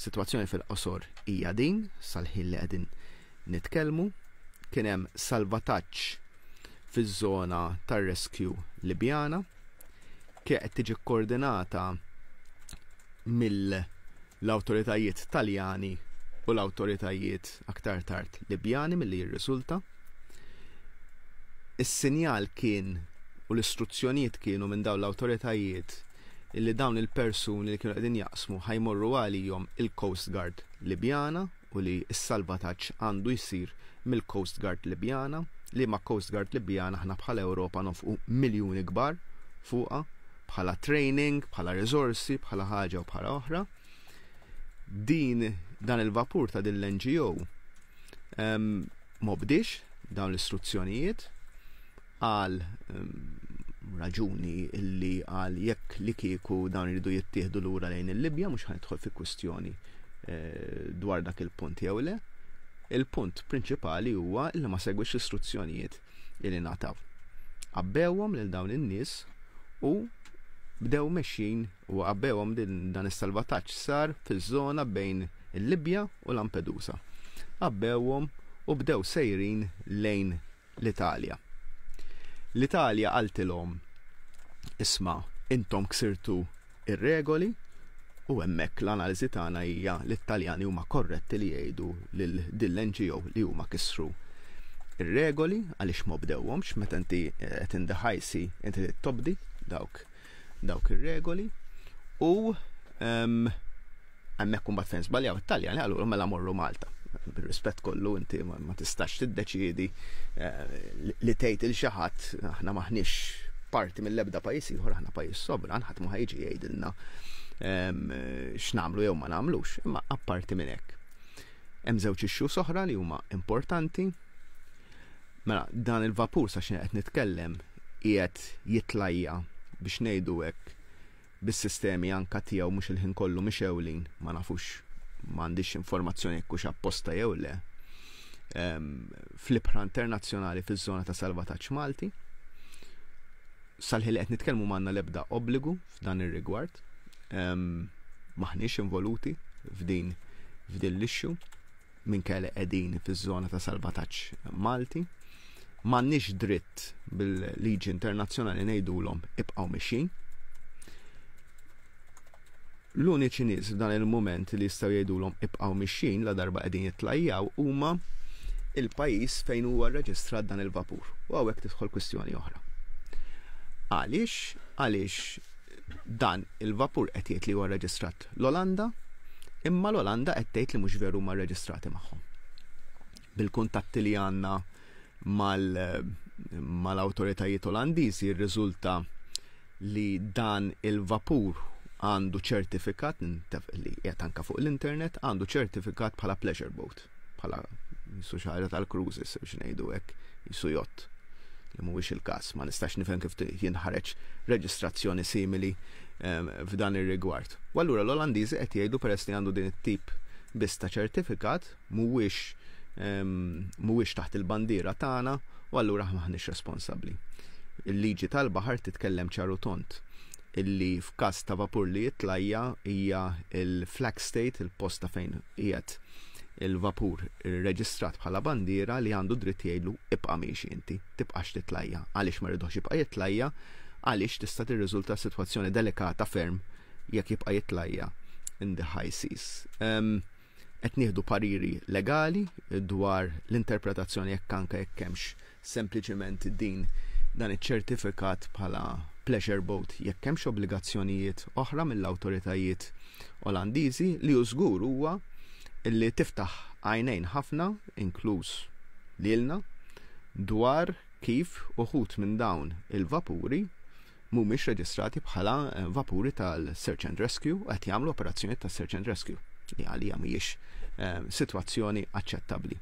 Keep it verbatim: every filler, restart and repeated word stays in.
Sitwazzjoni fil-qosor hija din, sal-ħin li qegħdin nitkellmu, kien hemm salvataġġ fiż-żona tar-rescue Libjana, kien qed tiġi koordinata mill-awtoritajiet Taljani u l-awtoritajiet aktar tard Libjani milli jirriżulta. Is-sinjal kien u l-istruzzjonijiet kienu minn dawn l-awtoritajiet illi dawn il-persuni li kienu qegħdin jaqsmu ħa jmorru għalihom il-Coast Guard Libjana u li s-salvataġġ għandu jsir mill-Coast Guard Libjana, li ma Coast Guard Libjana aħna bħala Ewropa nofqu miljuni kbar fuqha bħala training, bħala risorsi, bħala ħaġa u bħala oħra. Din dan il-vapur ta' din l-N G O um, m'obdiex dawn l-istruzzjonijiet għal um, raġuni illi għal jekk li kieku dawn iridu jittieħdu lura lejn il-Libja, mhux ħa nidħol fi kwistjoni eh, dwar dak il-punt jew le. Il-punt prinċipali huwa illi ma segwix l-istruzzjonijiet illi ngħataw. Għabbewhom lil dawn in-nies u bdew mexjin u għabbewhom. Dan is-salvataġġ sar fiż-żona bejn il-Libja u Lampedusa. Għabbewhom u bdew sejrin lejn l-Italja. L-Italja qaltilhom, "Isma', intom ksirtu ir-regoli," u hemmhekk l-analiżi tagħna hija li t-Taljani huma korretti li jgħidu lil din l-N G O li huma kisru ir-regoli għaliex ma obdewhomx. Meta inti qed in the high sea, inti tobdi dawk dawk ir-regoli u hemmhekk imbagħad fejn żbaljaw it-Taljani, qallu, "Mela morru Malta." Bir-rispett kollu, inti ma tistax tiddeċiedi eh, li tgħid il xi ħadd. Aħna maħniex parti mill-ebda pajjiż ieħor, aħna pajjiż sovran, ħadd ma ħa jiġi jgħidilna x'nagħmlu jew ma nagħmlux, imma apparti minn hekk. Hemm żewġ issues oħra li huma importanti. Mela, dan il-vapur sa xejn qed nitkellem qiegħed jitlajja, biex ngħidu hekk, bis-sistemi anka tiegħu mhux il-ħin kollu mixgħulin, ma nafux, m'għandix informazzjoni jekk hux apposta jew le, fl-ibħra internazzjonali fiż-żona ta' salvataġġ Malti. Sal-ħin li qed nitkellmu m'għandna l-ebda obbligu f'dan ir-rigward. Maħniex involuti f'din f'din l-issue minkejja qegħdin fiż-żona ta' salvataġġ Malti. M'għandniex dritt bil-liġi internazzjonali ngħidulhom ibqgħu mixjin. L-uniċi nies f'dan il-moment li jistgħu jgħidulhom ibqgħu mixjin la darba qegħdin jitlajjaw huma il-pajjiż fejn huwa rreġistrat dan il-vapur. U hawnhekk tidħol kwistjoni oħra. Għaliex? Għaliex dan il-vapur qed jgħid li huwa rreġistrat l-Olanda, imma l-Olanda qed tgħid li mhux veru ma rreġistrati magħhom. Bil-kuntatti li għandna mal-awtoritajiet Olandiżi jirriżulta li dan il-vapur għandu ċertifikat li qiegħed anka fuq l-internet, għandu ċertifikat bħala pleasure boat, bħala jisu xi ħaġa tal-cruises, biex ngħidu hekk, jisu yacht, li mhuwiex il-każ, ma nistax nifhem kif jinħareġ reġistrazzjoni simili f'dan ir-rigward. U allura l-Olandiżi qed jgħidu, peress li għandu din it-tip biss ta' ċertifikat, mhuwiex mhuwiex taħt il-bandiera tagħna u allura maħniex responsabbli. Il-liġi tal-baħar titkellem ċar u tond illi f'każ ta' vapur li jitlajja hija il-flag state, il-post ta' fejn qiegħed il-vapur reġistrat bħala bandiera, li għandu dritt jgħidlu, "Ibqa' miexi inti, tibqax titlajja." Għaliex ma rridux jibqa' jitlajja? Għaliex tista' tirriżulta sitwazzjoni delikata ferm jekk jibqa' jitlajja in the high seas. Um, qed nieħdu pariri legali dwar l-interpretazzjoni jekk anke jekk hemmx sempliċement din dan iċ-ċertifikat bħala pleasure boat, jekk hemmx obbligazzjonijiet oħra mill-awtoritajiet Olandiżi. Li hu żgur huwa illi tiftaħ għajnejn ħafna, inkluż lilna, dwar kif uħud minn dawn il-vapuri mhumiex reġistrati bħala eh, vapuri tal-search and rescue u qed jagħmlu operazzjoni ta' search and rescue, li għalija mhijiex eh, sitwazzjoni aċċettabbli.